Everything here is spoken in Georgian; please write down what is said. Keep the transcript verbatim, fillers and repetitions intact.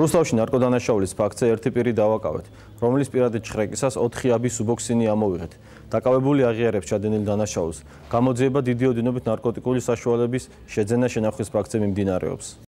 რუსთავში ნარკოდანაშაულის ფაქტზე ერთი პირი დავაკავეთ, რომლის პირადი ჩხრეკისას ოთხი აბი სუბოქსინი ამოვიღეთ. დაკავებული აღიარებს ჩადენილ დანაშაულს. გამოძიება დიდი ოდენობით ნარკოტიკული საშუალების შეძენა-შენახვის ფაქტზე მიმდინარეობს.